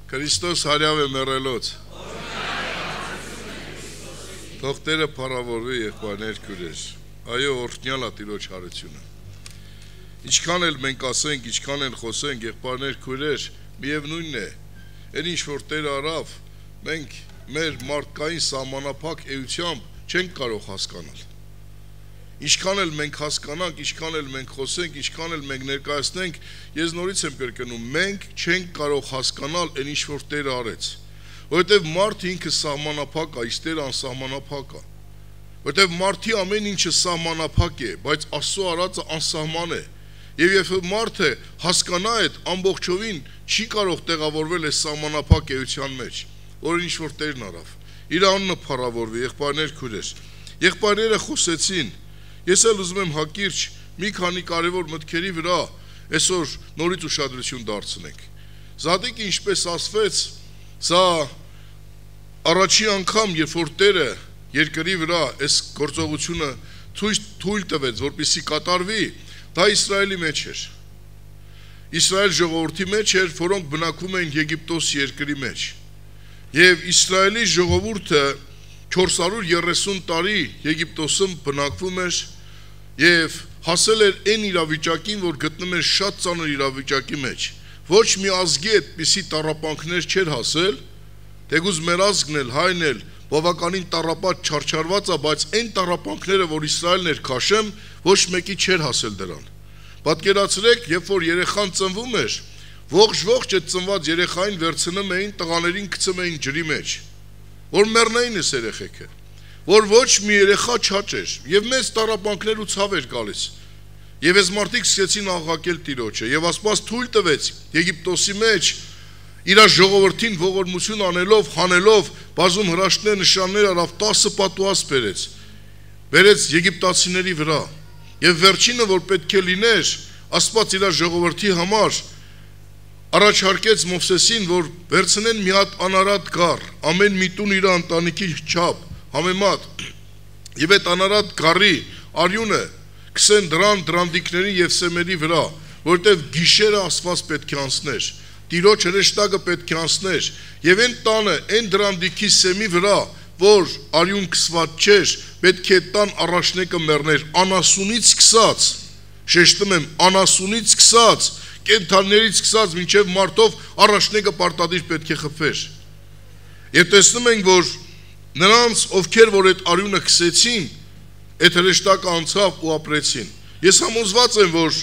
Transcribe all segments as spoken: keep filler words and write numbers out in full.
Քրիստոս հարյավ է մեռելոց։ Թող Տերը փառավորվի եղբայրներ քույրեր։ Այո, օրհնյալ է Տիրոջ հարությունը։ Ինչքան էլ մենք ասենք, ինչքան էլ խոսենք, եղբայրներ քույրեր, միևնույնն է, այն ինչ որ Տերը արավ, մենք մեր մարդկային սահմանափակ էությամբ չենք կարող հասկանալ։ Ինչքան էլ մենք հասկանանք, ինչքան էլ մենք խոսենք, ինչքան էլ մենք ներկայացնենք, ես նորից եմ կրկնում, մենք չենք կարող հասկանալ այն ինչ որ Տերը արեց, որովհետև մարդը ինքը սահմանափակ է, իսկ Տերը անսահմանափակ է, որովհետև մարդի ամեն ինչը սահմանափակ է, բայց Աստծո արածը անսահման է, եւ երբ մարդը հասկանա այդ ամբողջովին չի կարող տեղավորվել այս սահմանափակ էության մեջ, որ ինչ որ Տերն արավ, իր անունը փառավորվի, եղբայրներ քույրեր, եղբայրները խոսեցին. Ես էլ ուզում եմ հակիրճ մի քանի կարևոր մտքերի վրա այսօր նորից ուշադրություն դարձնենք։ Զատիկը ինչպես ասվեց, սա առաջի անգամ, երբ որ Տերը երկրի վրա այս գործողությունը թույլ տվեց, որպեսզի կատարվի, դա Իսրայելի մեջ էր։ Իսրայել ժողովրդի մեջ էր, որոնք բնակվում էին Եգիպտոս երկրի մեջ։ Եվ Իսրայելի ժողովուրդը չորս հարյուր երեսուն տարի Եգիպտոսում բնակվում էր եւ հասել էր այն իրավիճակին, որ գտնում էր շատ ծանր իրավիճակի մեջ։ Ոչ մի ազգի այդպիսի տառապանքներ չէր հասել, թեկուզ մեր ազգն էլ, հայն էլ բավականին տառապած չարչարված է, բայց այն տառապանքները, որ Իսրայելն էր քաշում, ոչ մեկի չէր հասել դրան։ Պատկերացրեք, երբ որ երեխան ծնվում էր, ողջ-ողջ այդ ծնված երեխային վերցնում էին, տղաներին գցում էին ջրի մեջ, որ մեռնեին այս երեխեքը, որ ոչ մի երեխա չաճեր, եւ մեծ տառապանքներ ու ցավ էր գալիս։ Եվ այս մարդիկ սկսեցին աղաղակել Տիրոջը, եւ Աստված թույլ տվեց Եգիպտոսի մեջ իր ժողովրդին ողորմություն անելով, հանելով, բազում հրաշքներ, նշաններ արավ, տասը պատուհաս բերեց, բերեց եգիպտացիների վրա։ Եվ վերջինը, որ պետք է լիներ, Աստված իր ժողովրդի համար առաջարկեց Մովսեսին, որ վերցնեն մի հատ անարատ գառ, ամեն մի տուն իր ընտանիքի չափ, համեմատ, եւ այդ անարատ գառի արյունը քսեն դրան դրանդիկների եւ սեմերի վրա, որտեւ գիշերը Աստված պետք է անցներ, Տիրոջ հրեշտակը պետք է անցներ, եւ այն տանը, այն դրանդիկի սեմի վրա, որ արյուն քսված չէր, պետք է տան առաջնեկը մեռներ, անասունից սկսած, շեշտում եմ, անասունից սկսած, կենդաններից սկսած մինչև մարդով առաջնեկը պարտադիր պետք է խփվեր։ Եվ տեսնում ենք, որ նրանց, ովքեր որ այդ արյունը քսեցին, այդ հրեշտակը անցավ ու ապրեցին։ Ես համոզված եմ, որ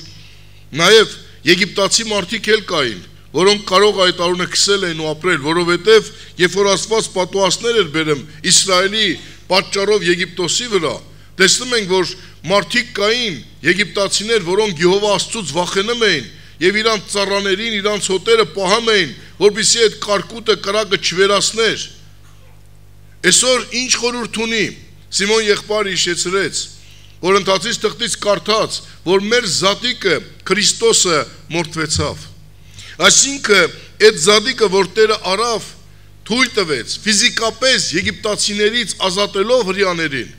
նաև եգիպտացի մարդիկ էլ կային, որոնք կարող այդ արյունը քսել էին ու ապրել, որովհետև երբ որ Աստված պատուհասներ էր բերում Իսրայելի պատճառով Եգիպտոսի վրա, տեսնում ենք, որ մարդիկ կային, եգիպտացիներ, որոնք Եհովա Աստծուց վախենում էին եւ իրանց ծառաներին, իրանց հոտերը պահում էին, որպեսզի այդ կարկուտը կրակը չվերացներ։ Այսօր ինչ խորհուրդ ունի Սիմոն եղբայրը հիշեցրեց, որ ընթացից թղթից կարդաց, որ մեր զատիկը Քրիստոսը մորթվեցավ։ Այսինքն այդ զատիկը, որ Տերը արավ, թույլ տվեց ֆիզիկապես եգիպտացիներից ազատելով հրեաներին,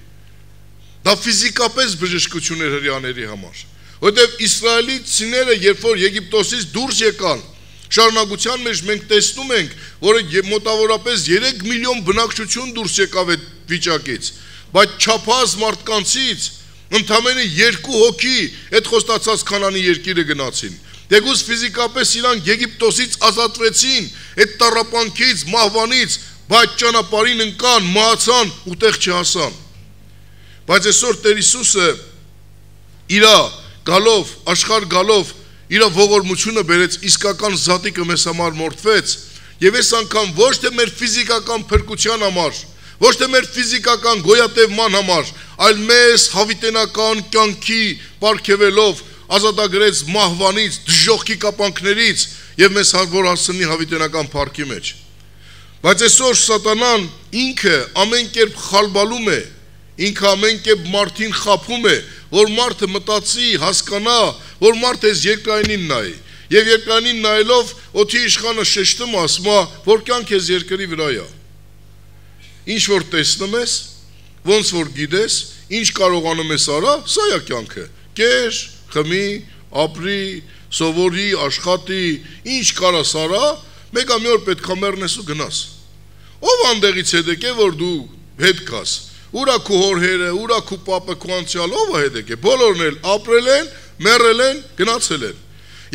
դա ֆիզիկապես բժշկություն էր հրեաների համար, որտեղ իսրայելիցիները, երբ որ Եգիպտոսից դուրս եկան, շարունակության մեջ մենք տեսնում ենք, որ մոտավորապես երեք միլիոն բնակչություն դուրս եկավ այդ վիճակից, բայց չափահաս մարդկանցից ընդամենը երկու հոգի այդ խոստացած Քանանի երկիրը գնացին։ Դեգուս ֆիզիկապես իրանք Եգիպտոսից ազատվեցին, այդ տառապանքից, մահվանից, բայց ճանապարհին ընկան, մահացան ու տեղ չհասան։ Բայց այսօր Տեր Հիսուսը իր գալով, աշխարհ գալով, իր ողորմությունը բերեց, իսկական զատիկը մեզ համար մորթվեց, եւ այս անգամ ոչ թե մեր ֆիզիկական փրկության համար, ոչ թե մեր ֆիզիկական գոյատևման համար, այլ մեզ հավիտենական կյանքի պարգևելով ազատագրեց մահվանից, դժոխքի կապանքներից եւ մեզ հավոր հասցնի հավիտենական փառքի մեջ։ Բայց այսօր սատանան ինքը ամեն կերպ խալբալում է, ինքը ամեն կերպ մարդին խափում է, որ մարդը մտածի, հասկանա, որ մարդը այս երկրայինին նայի, եւ երկրայինին նայելով օդի իշխանը շեշտում ասում է, որ կյանք ես երկրի վրա է։ Ինչ որ տեսնում ես, ոնց որ գիտես, ինչ կարողանում ես արա, սա է կյանքը։ Կեր, խմի, ապրի, սովորի, աշխատի, ինչ կարաս արա, Մեկը մի օր պետք է մեռնես ու գնաս։ Ով անդեղից հետ եկե, որ դու հետ կաս։ Ուրա քու հորհերը, ուրա քու պապը, քու անցյալ, ով է հետ եկե։ Բոլորն էլ ապրել են, մեռել են, գնացել են։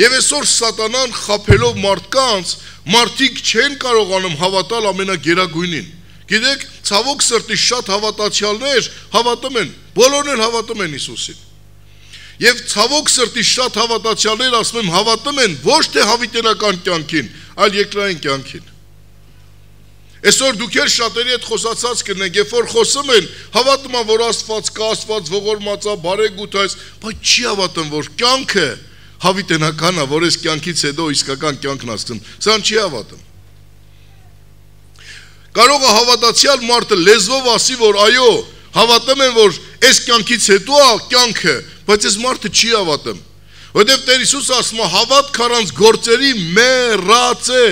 Եվ այսօր սատանան խաբելով մարդկանց, մարդիկ չեն կարողանում հավատալ ամենագերագույնին։ Գիտեք, ցավոք սրտի շատ հավատացյալներ հավատում են, բոլորն էլ հավատում են Հիսուսին։ Եվ ցավոք սրտի շատ հավատացյալներ ասում եմ հավատում են ոչ թե հավիտենական կյանքին, այլ երկրային կյանքին։ Այսօր դուք էլ շատերի հետ խոսացած կնեք, երբ որ խոսում են, հավատում են, որ Աստված կա, Աստված ողորմած է, բարեգութ է, բայց չի հավատում, որ կյանքը հավիտենական է, որ այս կյանքից հետո իսկական կյանքն ասում, սան չի հավատում։ Կարող է հավատացյալ մարդը լեզվով ասի, որ այո, հավատում են, որ այս կյանքից հետո է կյանքը, բայց այս մարդը չի հավատում։ Որտեվ Տեր Հիսուսը ասում է, հավատք առանց գործերի մեռած է։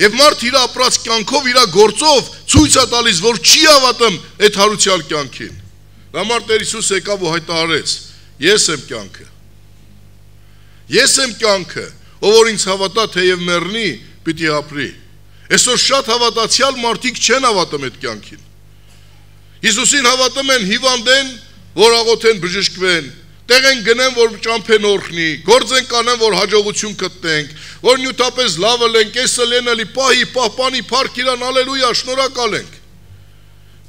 Եվ մարդ իր ապրած կյանքով, իր գործով ցույց է տալիս, որ չի հավատում այդ հարուցյալ կյանքին։ Դա մարդ Տեր Հիսուսը եկավ ու հայտարարեց. Ես եմ կյանքը։ Ես եմ կյանքը, ով որ ինձ հավատա, թեև մեռնի, պիտի ապրի։ Այսօր շատ հավատացյալ մարդիկ չեն հավատում այդ կյանքին։ Հիսուսին հավատում են, հիվանդ են, որ աղոթեն բժշկվեն, տեղ են գնեն, որ ճամփեն օրհնի, գործ են կանեն, որ հաջողություն գտնենք, որ նյութապես լավը լենք, էսը լենելի, պահի, պահպանի, փառք իրան, ալելույա, շնորհակալ ենք։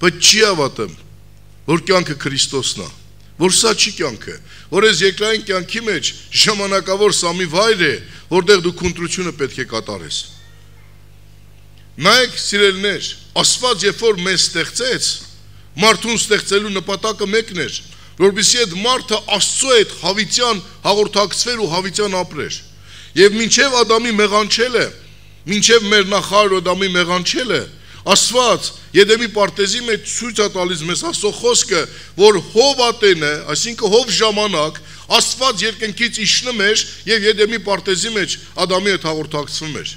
Բայց չի հավատում, որ կյանքը Քրիստոսն է, որ սա չի կյանքը, որ այս երկրային կյանքի մեջ ժամանակավոր սա մի վայր է, որտեղ դու քննությունը պետք է կատարես։ Նայեք, սիրելիներ, Աստված երբ որ մեզ ստեղծեց, մարդուն ստեղծելու նպատակը մեկն էր, որպեսզի այդ մարդը Աստծո հետ հավիտյան հաղորդակցվեր ու հավիտյան ապրեր։ Եվ մինչև Ադամի մեղանչելը, մինչև մեր նախարար Ադամի մեղանչելը, Աստված Եդեմի պարտեզի մեջ ցույց է տալիս մեզ Աստծո խոսքը, որ Հով ատենը, այսինքն Հով ժամանակ, Աստված երկնքից իջնում էր եւ Եդեմի պարտեզի մեջ Ադամի հետ հաղորդակցվում էր։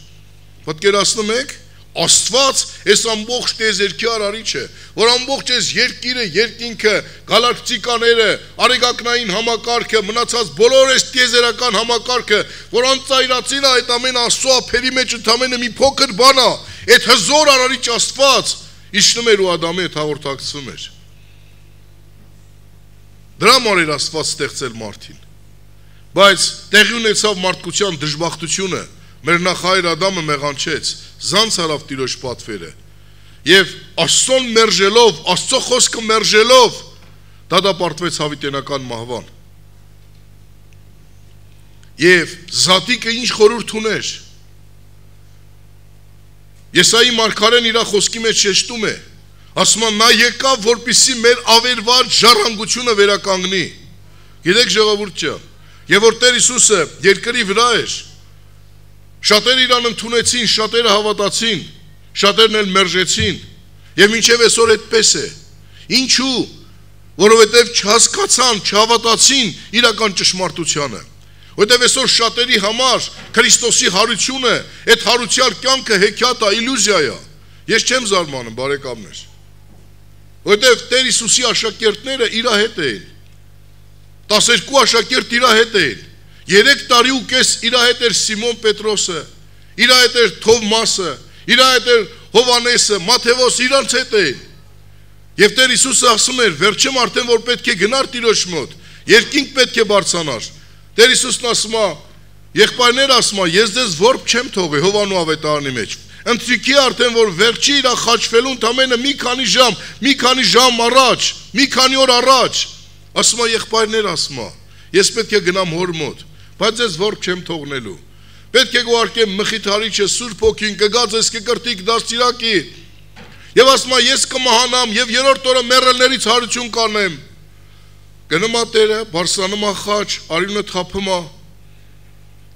Պատկերացնում եք, Աստված այս ամբողջ տիեզերքի արարիչ է, որ ամբողջ այս երկիրը, երկինքը, գալակտիկաները, արեգակնային համակարգը, մնացած բոլոր այս տիեզերական համակարգը, որ անծայրացին է այդ ամեն Աստծո ափերի մեջ ընդամենը մի փոքր բան է, այդ հզոր արարիչ Աստված իջնում էր ու Ադամի հետ հաղորդակցվում էր։ Դրա համար էր Աստված ստեղծել մարդին։ Բայց տեղի ունեցավ մարդկության դժբախտությունը, մեր նախահայր Ադամը մեղանչեց, զանց արավ Տիրոջ պատվերը եւ Աստծոն մերժելով, Աստծո խոսքը մերժելով դատապարտվեց հավիտենական մահվան։ Եվ Զատիկը ինչ խորհուրդ ուներ։ Եսայի մարգարեն իր խոսքի մեջ շեշտում է, ասում է նա եկավ, որպեսզի մեր ավերված ժառանգությունը վերականգնի։ Գիտեք ժողովուրդ ջան, եւ որ Տեր Հիսուսը երկրի վրա էր, շատերը իրան ընդունեցին, շատերը հավատացին, շատերն էլ մերժեցին, եւ մինչեւ այսօր այդպես է։ Ինչու՞, որովհետեւ չհասկացան, չհավատացին իրական ճշմարտությանը։ Որովհետեւ այսօր շատերի համար Քրիստոսի հարությունը, այդ հարուցյալ կյանքը հեքիաթ է, իլյուզիա է։ Ես չեմ զարմանում, բարեկամներ։ Որովհետեւ Տեր Հիսուսի աշակերտները իր հետ էին։ տասներկու աշակերտ իր հետ էին։ Երեք տարի ու կես իր հետ էր Սիմոն Պետրոսը, իր հետ էր Թովմասը, իր հետ էր Հովանեսը, Մաթեոս, իրանց հետ էին։ Եվ Տեր Հիսուսը ասում էր, վերջում արդեն որ պետք է գնար Տիրոջ մոտ, երկինք պետք է բարձրանար։ Տեր Հիսուսն ասում է, եղբայրներ ասում է, ես ձեզ որբ չեմ թողի Հովանու ավետարանի մեջ։ Ընթրիքի արդեն որ վերջի իր խաչվելու ընդամենը մի քանի ժամ, մի քանի ժամ առաջ, մի քանի օր առաջ, ասում է եղբայրներ ասում է, ես պետք է գնամ հոր մոտ, բայց ես որբ չեմ թողնելու։ Պետք է գուարկեմ Մխիթարիչը, Սուրբ Հոգին, կգա ձեզ կկրտիկ դաստիարակի։ Եվ ասում է, ես կմահանամ եւ երրորդ օրը մեռելներից հարություն կանեմ։ Գնում է Տերը, բարձրանում է խաչ, արյունը թափում է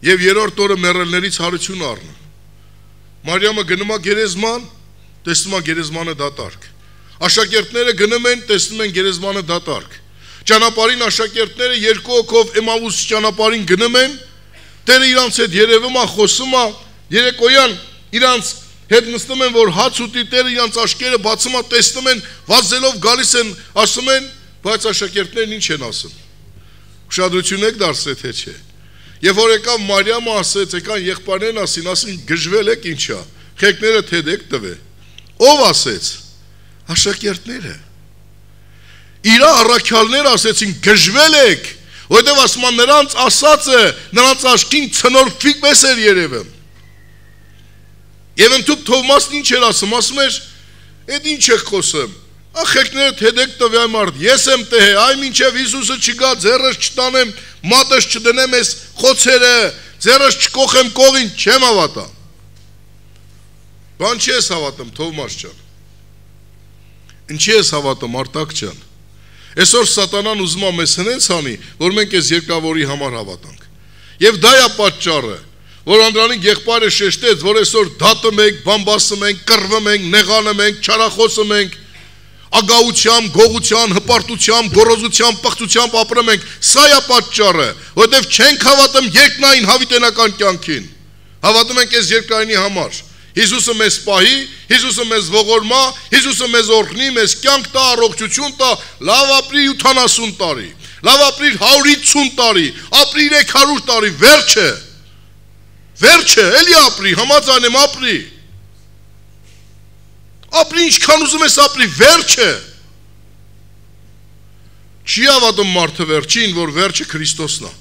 եւ երրորդ օրը մեռելներից հարություն առնում։ Մարիամը գնում է գերեզման, տեսնում է գերեզմանը դատարկ։ Աշակերտները գնում են, տեսնում են գերեզմանը դատարկ։ Ճանապարհին աշակերտները երկու հոգով Էմաուս ճանապարհին գնում են, Տերը իրանց հետ երևում է, խոսում է, երեկոյան իրանց հետ նստում են, որ հաց ուտի, Տերը իրանց աչքերը բացում է, տեսնում են, վազելով գալիս են, ասում են, բայց աշակերտներն ինչ են ասում։ Ուշադրություն եք դարձրել թե չէ։ Եվ որ եկավ Մարիամը ասեց, եկան եղբայրներն ասին, ասին գժվել եք ինչա, խեկները թեդեք տվե։ Ով ասեց։ Աշակերտները։ Իրա առաքյալները ասեցին գժվել եք, որտեվ ասում նրանց ասածը նրանց աչքին ցնորքվիկ մեզ էր երևում։ Եվ ընդհանուր Թովմասն ինչ էր ասում, ասում էր, «Էդ ինչ եք խոսում, ախեկները թեդեք տվյա մարդ, ես եմ տեհե, այ մինչև Հիսուսը չգա, ձեռս չտանեմ, մատս չդնեմ ես խոցերը, ձեռս չկոխեմ կողին, չեմ հավատա»։ Բան չի ես հավատում, Թովմաս ջան։ Ինչի ես հավատում, Արտակ ջան։ Այսօր սատանան ուզում է մեզ հնենց անի, որ մենք այս երկրավորի համար հավատանք։ Եվ դա է պատճառը, որ Անդրանիկ եղբայրը շեշտեց, որ այսօր դատում ենք, բամբասում ենք, կռվում ենք, նեղանում ենք, չարախոսում ենք, ագահությամբ, գողությամբ, հպարտությամբ, գոռոզությամբ, պղծությամբ ապրում ենք, սա է պատճառը, որովհետև չենք հավատում երկնային հավիտենական կյանքին։ Հավատում ենք այս երկրայինի համար։ Հիսուսը մեզ պահի, Հիսուսը մեզ ողորմա, Հիսուսը մեզ օրհնի, մեզ կյանք տա, առողջություն տա, լավ ապրի ութանասուն տարի, լավ ապրի հարյուր հինգ տարի, ապրի երեք հարյուր տարի, վերջը, վերջը, էլի ապրի, համաձայն եմ ապրի, ապրի ինչքան ուզում ես ապրի, վերջը, չի հավատում մարդը վերջին, որ վերջը Քրիստոսն է,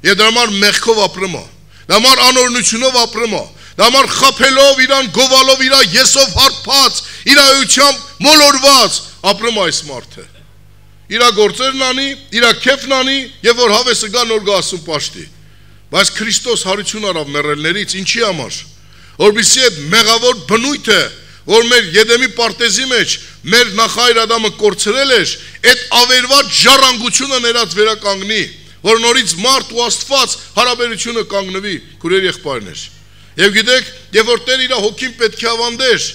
և դրա համար մեղքով ապրում է, դրա համար անօրենությունով ապրում է, դա համար խապելով, իրան գովալով, իրա եսով հարբած, իրա էությամբ մոլորված, ապրում այս մարդը։ Իրա գործերն անի, իրա կեփն անի, և որ հավեսը գա նոր գասում պաշտի։ Բայց Քրիստոս հարություն արավ մեռելներից, ինչի համար, որպեսզի այդ մեղավոր բնույթը, որ մեր Եդեմի պարտեզի մեջ մեր նախահայր Ադամը կորցրել էր, այդ ավերված ժառանգությունը ներած վերականգնի, որ նորից մարդ ու Աստված հարաբերությունը կանգնվի, քուրեր եղբայրներ։ Եվ գիտեք, եւ որ Տեր իր հոգին պետք է ավանդեր,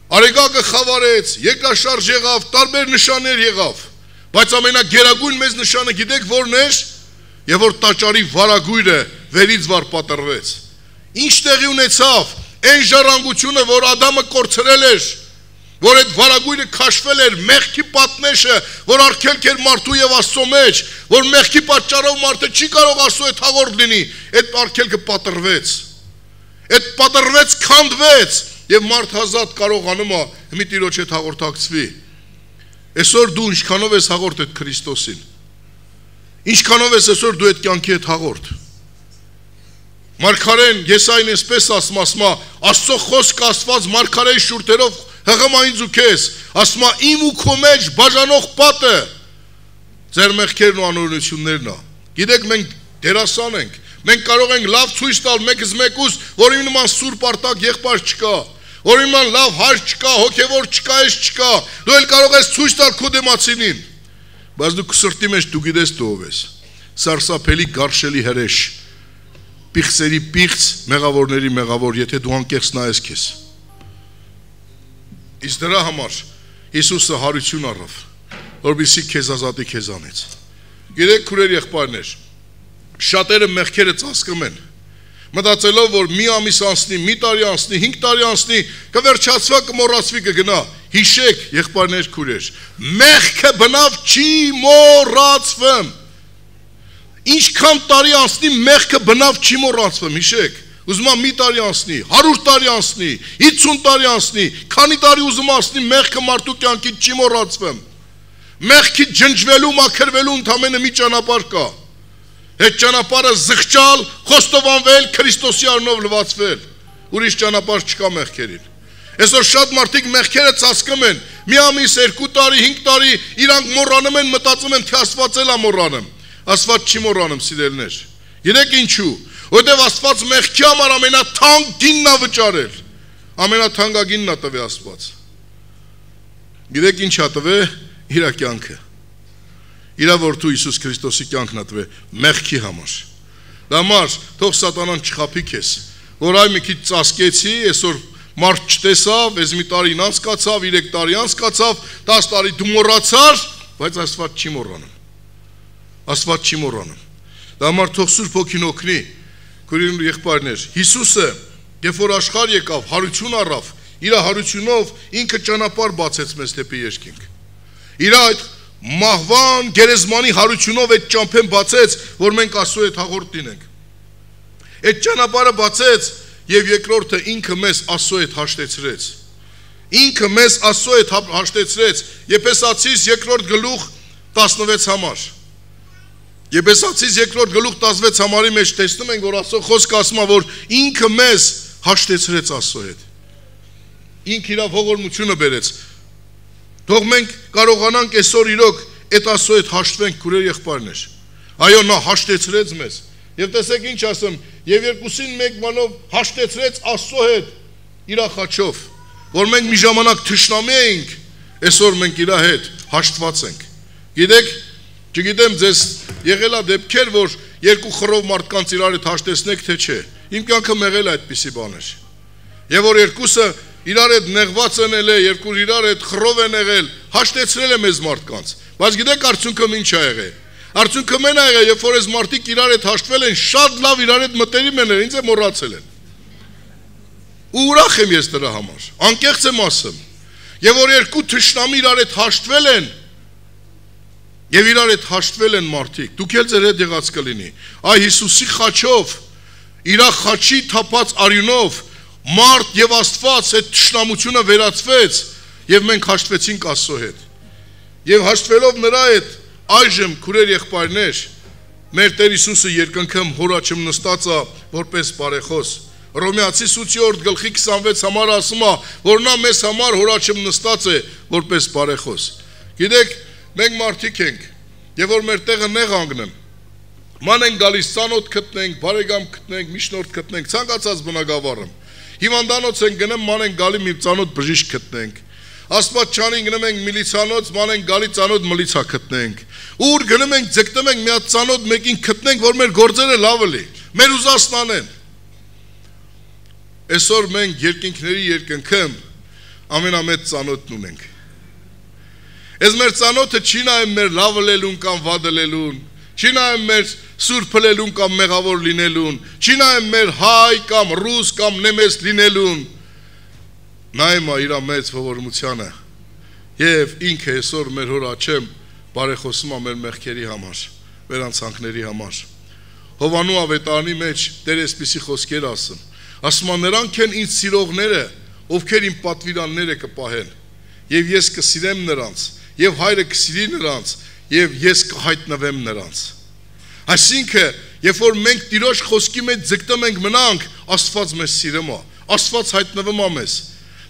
Արեգակը խավարեց, երկրաշարժ եղավ, տարբեր նշաններ եղավ, բայց ամենագերագույն մեծ նշանը գիտեք որն էր, եւ որ տաճարի վարագույրը վերից վար պատռվեց։ Ինչ տեղի ունեցավ, այն ժառանգությունը, որ Ադամը կորցրել էր, որ այդ վարագույրը քաշվել էր, մեղքի պատնեշը, որ արգելք էր մարդու եւ Աստծո մեջ, որ մեղքի պատճառով մարդը չի կարող Աստծո հետ հաղորդ լինի, այդ արգելքը պատռվեց։ Այդ պատռվեց, քանդվեց, եւ մարդ հազատ կարողանում է մի Տիրոջ հետ հաղորդակցվի։ Այսօր դու ինչքանով ես հաղորդ այդ Քրիստոսին։ Ինչքանով ես այսօր դու այդ կյանքի հետ հաղորդ։ Մարգարեն Եսային այսպես ասում, ասում է, Աստծո խոսքը ասված մարգարեի շուրթերով հղմային ձուքես, ասում է, իմ ու քո մեջ բաժանող պատը ձեր մեղքերն ու անօրենություններն է։ Գիտեք, մենք դերասան ենք, մենք կարող ենք լավ ցույց տալ մեկս մեկուս, որ իմ նման սուրբ արտակ եղբայր չկա, որ իմ նման լավ հայր չկա, հոգևոր չկա, ես չկա, դու էլ կարող ես ցույց տալ քո դեմացինին, բայց դու սրտի մեջ դու գիտես դու ով ես, սարսափելի գարշելի հրեշ, պիղծերի պիղծ, մեղավորների մեղավոր, եթե դու անկեղծ նայես քեզ։ Իսկ դրա համար Հիսուսը հարություն առավ, որպեսզի քեզ ազատի քեզանից։ Գիտեք, քուրեր եղբայրներ, շատերը մեղքերը ծածկում են, մտածելով, որ մի ամիս անցնի, մի տարի անցնի, հինգ տարի անցնի, կվերջացվա, կմոռացվի, կգնա։ Հիշեք, եղբայրներ, քուրեր, մեղքը բնավ չի մոռացվում։ Ինչքան տարի անցնի, մեղքը բնավ չի մոռացվում, հիշեք։ Ուզում եմ մի տարի անցնի, հարյուր տարի անցնի, հինգ տարի անցնի, քանի տարի ուզում անցնի, մեղքը մարդու կյանքից չի մոռացվում։ Մեղքի ջնջվելու, մաքրվելու ընդամենը մի ճանապարհ կա։ Այդ ճանապարհը զղջալ, խոստովանվել, Քրիստոսի անունով լվացվել։ Ուրիշ ճանապարհ չկա մեղքերին։ Այսօր շատ մարդիկ մեղքերը ծածկում են։ Մի ամիս, երկու տարի, հինգ տարի իրանք մոռանում են, մտածում են, թե Աստված էլ է մոռանում։ Աստված չի մոռանում, սիրելիներ։ Գիտեք ինչու։ Որտեւ Աստված մեղքի համար ամենաթանկ գինն է վճարել։ Ամենաթանկագինն է տվել Աստված։ Գիտեք ինչ է տվել իր կյանքը։ Իր որդու Հիսուս Քրիստոսի կյանքն է տվել մեղքի համար։ Դա համար թող սատանան չխափի քեզ, որ այ մի քիչ ծածկեցի, այսօր մարդ չտեսավ, այս մի տարին անցկացավ, երեք տարի անցկացավ, դաս տարի դու մոռացար, բայց Աստված չի մոռանում։ Աստված չի մոռանում։ Դա համար թող Սուրբ Հոգին օգնի, քուրին եղբայրներ, Հիսուսը, երբ որ աշխարհ եկավ, հարություն առավ, իր հարությունով ինքը ճանապարհ բացեց մեզ դեպի երկինք։ Իր այդ մահվան գերեզմանի հարությունով այդ ճամփեն բացեց, որ մենք Աստծո հետ հաղորդ լինենք։ Այդ ճանապարհը բացեց եւ երկրորդը ինքը մեզ Աստծո հետ հաշտեցրեց։ Ինքը մեզ Աստծո հետ հաշտեցրեց Եփեսացիս երկրորդ գլուխ տասնվեց համար։ Եփեսացիս երկրորդ գլուխ տասնվեց համարի մեջ տեսնում ենք, որ Աստծո խոսքը ասում է, որ ինքը մեզ հաշտեցրեց Աստծո հետ։ Ինքը իր ողորմությունը բերեց։ Թող մենք կարողանանք այսօր իրոք այդ Աստծո հետ հաշտվենք, քուրեր եղբայրներ։ Այո, նա հաշտեցրեց մեզ։ Եվ տեսեք ինչ ասեմ, եւ երկուսին մեկ բանով հաշտեցրեց Աստծո հետ իր խաչով, որ մենք մի ժամանակ թշնամի էինք, այսօր մենք իր հետ հաշտված ենք։ Գիտեք, չգիտեմ ձեզ եղել է դեպքեր, որ երկու խռով մարդկանց իրար հետ հաշտեցնեք, թե չէ։ Իմ կյանքը եղել է այդպիսի բաներ։ Եվ որ երկուսը իրար հետ նեղված են ելել, երկու իրար հետ խռով են եղել, հաշտեցրել է մեզ մարդկանց։ Բայց գիտեք արդյունքը ինչ ա եղել։ Արդյունքը մեն ա եղել, երբ որ այս մարդիկ իրար հետ հաշտվել են, շատ լավ իրար հետ մտերիմ են, ինձ է մոռացել են։ Ու ուրախ եմ ես դրա համար։ Անկեղծ եմ ասում։ Եվ որ երկու թշնամի իրար հետ հաշտվել են, եւ իրար հետ հաշտվել են մարդիկ, դուք էլ ձեր հետ եղած կլինի։ Այ Հիսուսի խաչով, իր խաչի թափած արյունով մարդ եւ Աստված այդ թշնամությունը վերացվեց եւ մենք հաշտվեցինք Աստծո հետ։ Եվ հաշտվելով նրա հետ այժմ քուրեր եղբայրներ մեր Տեր Հիսուսը երկնքում հորաչում նստած է որպես բարեխոս։ Հռոմեացիս ութ գլխի քսանվեց համար ասում է, որ նա մեզ համար հորաչում նստած է որպես բարեխոս։ Գիտեք, մենք մարդիկ ենք, եւ որ մեր տեղը նեղ անգնեմ։ Ման ենք գալիս ցանոթ գտնենք, բարեկամ գտնենք, միջնորդ գտնենք, ցանկացած բնակավարում։ Հիվանդանոց են գնում, ման են գալի մի ցանոթ բժիշկ գտնենք։ Աստվածչանին գնում ենք միլիցանոց, ման են գալի ցանոթ միլիցա գտնենք։ Ուր գնում ենք, ձգտում ենք մի հատ ցանոթ մեկին գտնենք, որ մեր գործերը լավը լի, մեր ուզածնանեն։ Այսօր մենք երկինքների երկնքում ամենամեծ ցանոթն ունենք։ Այս մեր ցանոթը չի նայում մեր լավը լելուն կամ վադը լելուն, չի նայում մեր սուրբը լելուն կամ մեղավոր լինելուն, չի նայում մեր հայ կամ ռուս կամ նեմես լինելուն, նայում է իր մեծ ողորմությանը եւ ինքը այսօր մեր հոր աչեմ բարեխոսում է մեր մեղքերի համար, մեր անցանքների համար։ Հովանու ավետարանի մեջ Տեր այսպիսի խոսքեր ասում, ասում է նրանք են ինձ սիրողները, ովքեր իմ պատվիրանները կպահեն, եւ ես կսիրեմ նրանց, եւ հայրը կսիրի նրանց, եւ ես կհայտնվեմ նրանց։ Այսինքն, երբ որ մենք Տիրոջ խոսքի մեջ ձգտում ենք մնանք, Աստված մեզ սիրում է, Աստված հայտնվում է մեզ։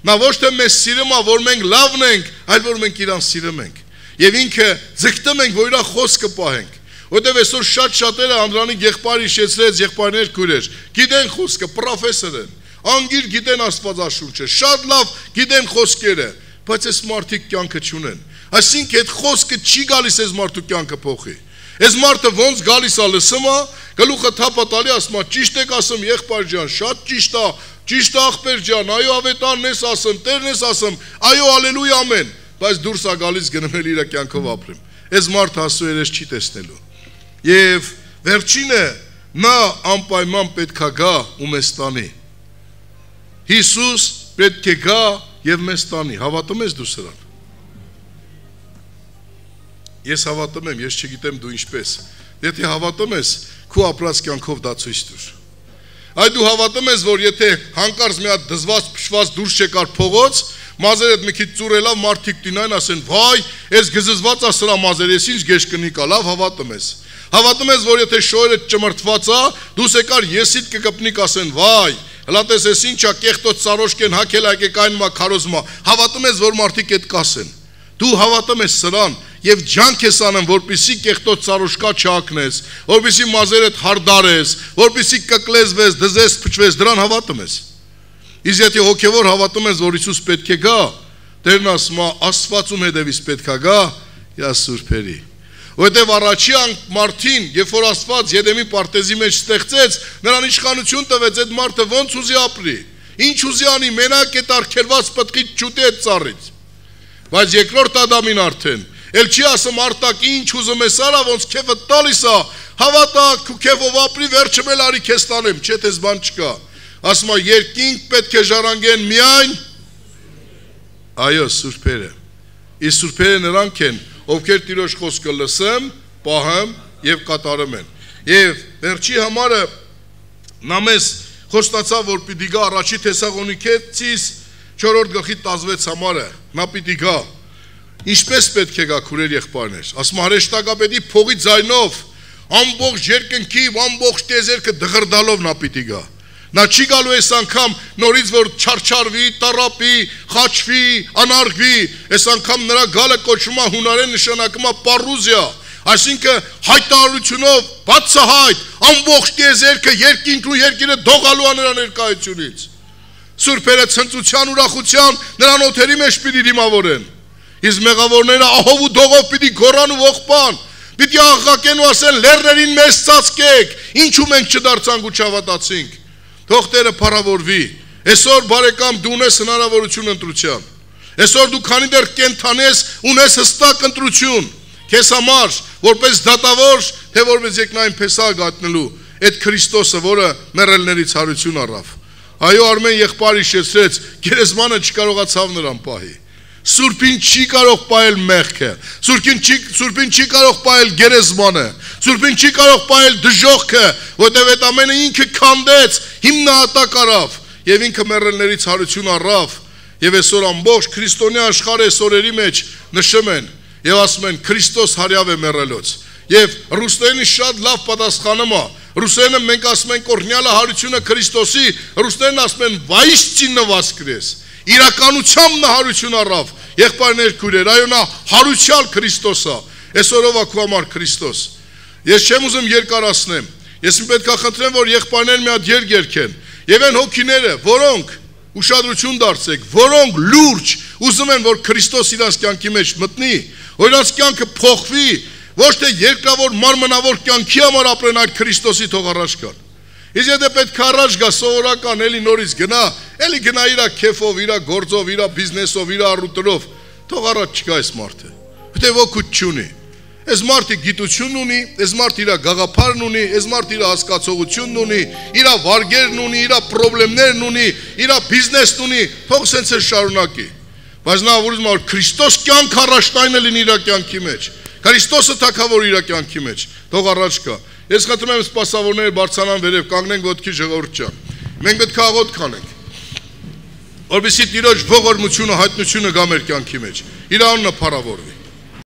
Նա ոչ թե մեզ սիրում է, որ մենք լավն ենք, այլ որ մենք իրան սիրում ենք։ Եվ ինքը ձգտում ենք, որ իր խոսքը պահենք։ Որտեւ այսօր շատ շատերը Անդրանիկ եղբայր հիշեցրեց, եղբայրներ քույրեր, գիտեն խոսքը, պրոֆեսոր են, անգիր գիտեն Աստվածաշունչը, շատ լավ գիտեն խոսքերը, բայց այս մարդիկ կյանքը չունեն։ Այսինքն այդ խոսքը չի գալիս այս մարդու կյանքը փոխի։ Այս մարդը ոնց գալիս է լսում է, գլուխը թափա տալի, ասում է ճիշտ եք ասում եղբայր ջան, շատ ճիշտ է, ճիշտ է աղբեր ջան, այո ավետարն ես ասում, Տերն ես ասում, այո հալելույա ամեն, բայց դուրս է գալիս գնում էլ իր կյանքով ապրում։ Այս մարդը Աստծո երես չի տեսնելու։ Եվ վերջինը նա անպայման պետք է գա ու մեզ տանի։ Հիսուս պետք է գա եւ մեզ տանի։ Հավատում ես դու սրան։ Ես հավատում եմ, ես չգիտեմ դու ինչպես։ Եթե հավատում ես, քո ապրած կյանքով դա ցույց տուր։ Այ դու հավատում ես, որ եթե հանկարծ մի հատ դզված փշված դուրս չեկար փողոց, մազերդ մի քիչ ծուրելով մարդիկ տինային ասեն, վայ, ես գզզված է սրա մազեր, ես ինչ գեշ կնի կա, լավ հավատում ես։ Հավատում ես, որ եթե շոյերը ճմրթված է, դու եկար եսիդ կկպնիկ ասեն, վայ, հլա տես ես ինչա կեղտոց սարոշկեն հակել ակեք այն մա քարոզմա։ Հավատում ես, որ մարդիկ այդ կասեն։ Դու հավատում ես սրան եւ ջանք ես անում, որպեսի կեղտոց սարոշկա չակնես, որպեսի մազերդ հարդարես, որպեսի կկլեզվես, դզես, փչվես, դրան հավատում ես։ Իսկ եթե հոգեվոր հավատում ես, որ Հիսուս պետք է գա, Տերն ասում է, Աստվածում հետևից պետք է գա, իա սուրբերի։ Որտեւ առաջի մարդին, երբ որ Աստված Եդեմի պարտեզի մեջ ստեղծեց, նրան իշխանություն տվեց, այդ մարդը ոնց ուզի ապրի։ Ինչ ուզի անի, մենակ այդ արգելված պտղից չուտի այդ ծառից։ Բայց երկրորդ Ադամին արդեն, էլ չի ասում արտակ ինչ ուզում ես արա, ոնց քեֆը տալիս է, հավատա, քու քեֆով ապրի, վերջը էլ արի քեզ տանեմ, չէ՞ տես բան չկա։ Ասում է երկինք պետք է ժառանգեն միայն այո, սուրբերը։ Իսկ սուրբերը նրանք են, ովքեր Տիրոջ խոսքը լսեմ, պահեմ եւ կատարեմ են։ Եվ վերջի համարը նա մեզ խոստացավ, որ պիտի գա առաջի Թեսաղոնիկեցիս չորրորդ գլխի տասնվեց համարը, նա պիտի գա։ Ինչպես պետք է գա քուրեր եղբայրներ, ասում հրեշտակապետի փողի ձայնով, ամբողջ երկնքի, ամբողջ տիեզերքը դղրդալով նա պիտի գա։ Նա չի գալու այս անգամ նորից որ չարչարվի, տառապի, խաչվի, անարգվի, այս անգամ նրա գալը կոչվում է հունարեն նշանակում է պարուզիա, այսինքն հայտարարությունով բացահայտ ամբողջ տիեզերքը երկինքն ու երկիրը դողալու է նրա ներկայությունից։ Սուրբերը ցնծության ուրախության նրան օթերի մեջ պիտի դիմավորեն։ Իսկ մեղավորները ահով ու դողով պիտի գոռան ու ողբան, պիտի աղաղակեն ու ասեն լեռներին մեզ ծածկեք, ինչու մենք չդարձանք ու չհավատացինք։ Թող Տերը փառավորվի։ Այսօր բարեկամ դու ունես հնարավորություն ընտրության։ Այսօր դու քանի դեռ կենթանի ես, ունես հստակ ընտրություն։ Քեզ համար, որպես դատավոր, թե որպես երկնային փեսա գտնելու այդ Քրիստոսը, որը մեռելներից հարություն առավ։ Այո, Արմեն եղբայրը հիշեցրեց, գերեզմանը չկարողացավ նրան պահի։ Սուրբին չի կարող պահել մեղքը, Սուրբին չի, Սուրբին չի կարող պահել գերեզմանը, Սուրբին չի կարող պահել դժոխքը, որտեղ այդ ամենը ինքը քանդեց, հիմնահատակ արավ եւ ինքը մեռելներից հարություն առավ եւ այսօր ամբողջ քրիստոնյա աշխարհը այսօրերի մեջ նշում են եւ ասում են Քրիստոս հարյավ է մեռելոց եւ ռուսերենի շատ լավ պատասխանում է ռուսերենը մենք ասում ենք օրհնյալը հարությունը Քրիստոսի ռուսերենը ասում են վայիսցինը վասկրես իրականությամբ նա հարություն առավ եղբայրներ քույրեր այո նա հարուցյալ Քրիստոս է այսօրով ակու համար Քրիստոս ես չեմ ուզում երկարացնեմ ես պետք է խնդրեմ որ եղբայրներ մի հատ երգ երգեն եւ այն հոգիները որոնք ուշադրություն դարձեք որոնք լուրջ ուզում են որ Քրիստոս իրանց կյանքի մեջ մտնի որ իրանց կյանքը փոխվի ոչ թե երկրավոր մարմնավոր կյանքի համար ապրեն այլ Քրիստոսի թող առաջ գան Իսկ եթե պետք է առաջ գա սովորական էլի նորից գնա, էլի գնա իր քեֆով, իր գործով, իր բիզնեսով, իր առուտուրով, թող առաջ չգա այս մարդը։ Որտե ոգուտ չունի։ Այս մարդը գիտություն ունի, այս մարդը իր գաղափարն ունի, այս մարդը իր հասկացողությունն ունի, իր վարգերն ունի, իր խնդիրներն ունի, իր բիզնեսն ունի, թող սենց է շարունակի։ Բայց նա ուզում է որ Քրիստոս կյանք առաջնայինը լինի իր կյանքի մեջ։ Քրիստոսը թագավոր իր կյանքի մեջ, թող առաջ գա։ Ես խնդրում եմ սպասավորները բարձրանան վերև, կանգնենք ոտքի ժողովուրդ ջան։ Մենք պետք է աղոթք անենք։ Որպեսզի Տիրոջ ողորմությունը, հայտնությունը գա մեր կյանքի մեջ։ Իր անունը փառավորվի։